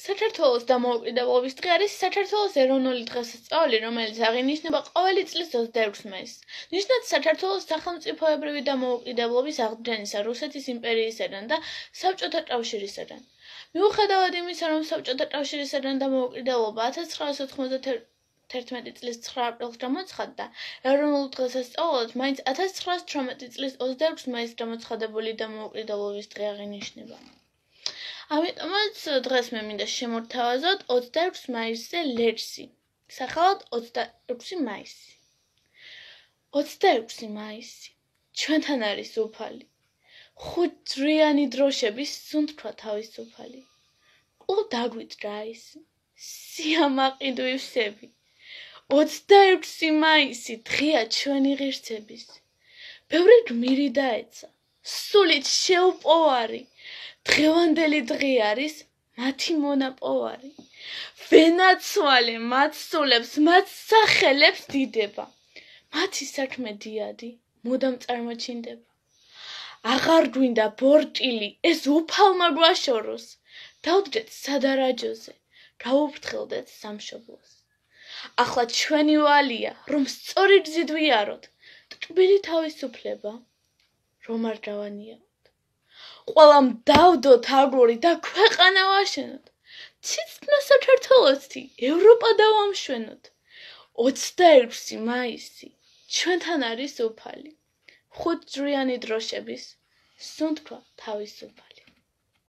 საქართველოს დამოუკიდებლობის დღე არის საქართველოს ეროვნული დღესასწაული, რომელიც აღინიშნება ყოველი წლის 26 მაისს. ნიშნად საქართველოს სახელმწიფოებრივი დამოუკიდებლობის აღდგენისა რუსეთის იმპერიისაგან და საბჭოთა კავშირისაგან. მიუხედავად იმისა, რომ საბჭოთა კავშირისაგან დამოუკიდებლობა 1991 წლის 9 აპრილს გამოცხადდა, ეროვნულ დღესასწაულად მაინც 1918 წლის 26 მაისს გამოცხადებული დამოუკიდებლობის დღე აღინიშნება. ამიტომაც დღეს მე მინდა შემოვთავაზოთ 26 მაისზე ლექსი, სახელად 26 მაისი. 26 მაისი ჩვენთან არის უფალი, ხუთჯვრიანი დროშების სუნთქვა თავისუფალი. ყულ დაგვიჭრა ის, სიამაყიდვი ვსები. 26 მაისი დღეა ჩვენი ღირსების. ბევრი გმირი დაეცა, სულით შეუპოვარი. დღევანდელი დღე არის მათი მონაპოვარი. ვენაცვალე მათ სულებს, მათ სახელებს დიდება. მათი საქმე დიადი, მუდამ წარმოჩინდება. აღარ გვინდა ბორჭილი, ეს უფალმა გვაშოროს. დავდგეთ სადარაჯოზე, გავუფრთხილდეთ სამშობლოს. ახლა ჩვენი ვალია, რომ სწორი გზით ვიაროთ, ტკბილი თავისუფლება, რომ არ დავანიაროთ. ყველამ დავდოთ აგური და ქვეყანა ვაშენოთ. ციცნა საქართველოსი, ევროპა დავამშვენოთ. 26 მაისი ჩვენთან არის უფალი. ხუთჯვრიანი დროშების სუნთქვა თავისუფალი.